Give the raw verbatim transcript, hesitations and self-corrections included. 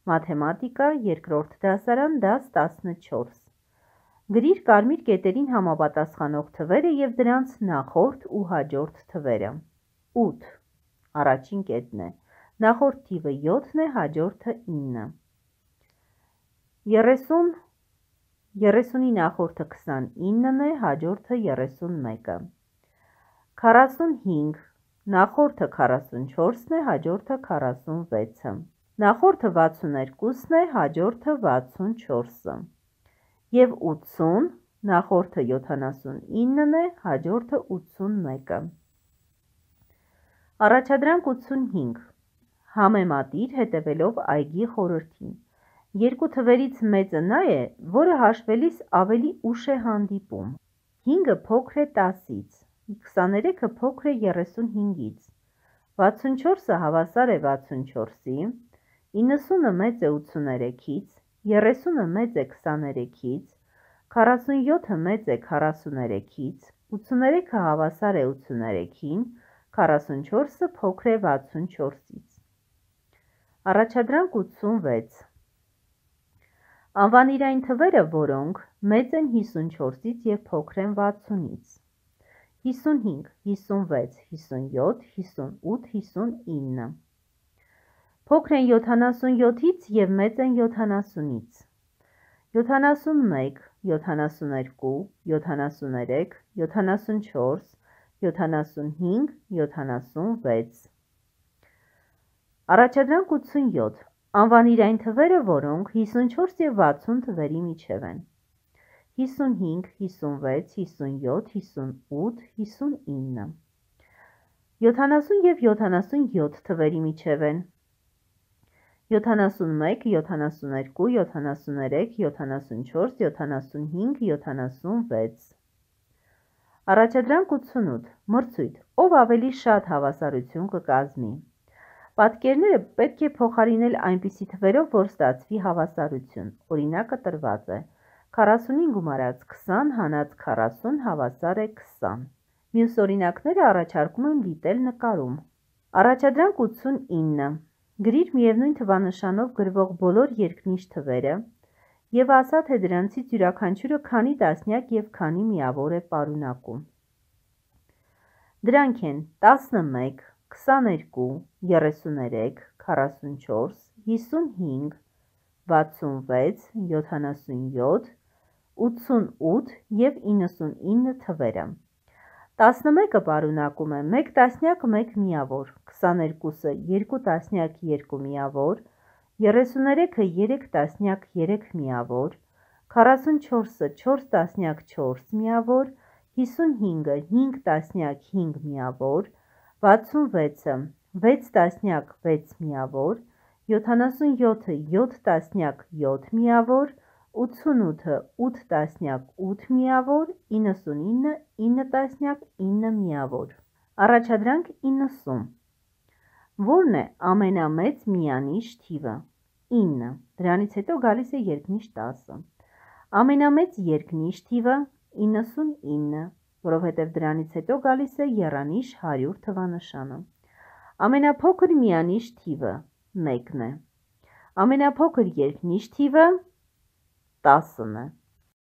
Մաթեմատիկա, երկրորդ դասարան, դաս տասնչորս։ Գրիր կարմիր կետերին համապատասխանող թվերը և դրանց նախորդ ու հաջորդ թվերը։ ութ առաջին կետն է, նախորդ թիվը յոթն է, հաջորդը ինը։ երեսուն, երեսունի նախորդը քսանինն է, հաջորդը երեսունմեկը։ քառասունհինգ, նախորդը քառասունչորսն է, հաջորդը քառասունվեցը։ Նախորդը վաթսուներկուսն է, հաջորդը վաթսունչորսը։ Եվ ութսուն, նախորդը յոթանասունինն է, հաջորդը ութսունմեկը։ Առաջադրանք ութսունհինգ, համեմատիր հետևելով այգի խորհրդին։ Երկու թվերից մեծը նա է, որը հաշվելիս ավելի ուշ է հանդիպում։ հինգը փոքր է տասից, քսաներեքը փոքր է երեսունհինգից, վաթսունչորսը հավասար է վաթսունչորսի, իննսունը մեծ է ութսուներեքից, երեսունը մեծ է քսաներեքից, քառասունյոթը մեծ է քառասուներեքից, ութսուներեքը հավասար է ութսուներեքին, քառասունչորսը փոքր է վաթսունչորսից։ Առաջադրանք ութսունվեց, անվանիր այն թվերը, որոնք մեծ են հիսունչորսից և փոքր են վաթսունից։ հիսունհինգ, հիսունվեց, հիսունյոթ, հիսունութ, հիսունինը։ Փոքր են յոթանասունյոթից և մեծ են յոթանասունից։ յոթանասունմեկ, յոթանասուներկու, յոթանասուներեք, յոթանասունչորս, յոթանասունհինգ, յոթանասունվեց։ Առաջադրանք ութսունյոթ, անվանիր այն թվերը, որոնք հիսունչորս և վաթսուն թվերի միջև են։ հիսունհինգ, հիսունվեց, հիսունյոթ, հիսունութ, հիսունինը։ յոթանասուն և յոթանասունյոթ թվերի միջև են։ յոթանասունմեկ, յոթանասուներկու, յոթանասուներեք, յոթանասունչորս, յոթանասունհինգ, յոթանասունվեց։ Առաջադրանք ութսունութ, մրցույթ, ով ավելի շատ հավասարություն կկազմի։ Պատկերները պետք է փոխարինել այնպիսի թվերով, որ ստացվի հավասարություն։ Օրինակը տրված է։ քառասունին գումարած քսան հանած քառասուն հավասար է քսան։ Մյուս օրինակները առաջարկում եմ դիտել նկարում։ Առաջադրանք ութսունինը, գրիր միևնույն թվանշանով գրվող բոլոր երկնիշ թվերը և ասա, թե դրանցից յուրաքանչյուրը քանի տասնյակ և քանի միավոր է պարունակում։ Դրանք են տասնմեկ, քսաներկու, երեսուներեք, քառասունչորս, հիսունհինգ, վաթսունվեց, յոթանասունյոթ, ութսունութ և իննսունինը թվերը։ տասնմեկը պարունակում է մեկ տասնյակ մեկ միավոր, քսաներկուսը երկու տասնյակ երկու միավոր, երեսուներեքը երեք տասնյակ երեք միավոր, քառասունչորսը չորս տասնյակ չորս միավոր, հիսունհինգը հինգ տասնյակ հինգ միավոր, վաթսունվեցը վեց տասնյակ վեց միավոր, յոթանասունյոթը յոթ տասնյակ յոթ միավոր, ութսունութը ութ տասնյակ ութ միավոր, իննսունինը ինը տասնյակ ինը միավոր։ Առաջադրանք իննսուն, որն է ամենամեծ միանիշ թիվը։ ինը, դրանից հետո գալիս է երկնիշ տասը։ Ամենամեծ երկնիշ թիվը իննսունինը, որովհետև դրանից հետո գալիս է եռանիշ հարյուր թվանշանը։ Ամենափոքր միանիշ թիվը մեկն է։ Ամենափոքր երկնիշ թիվը տասն է։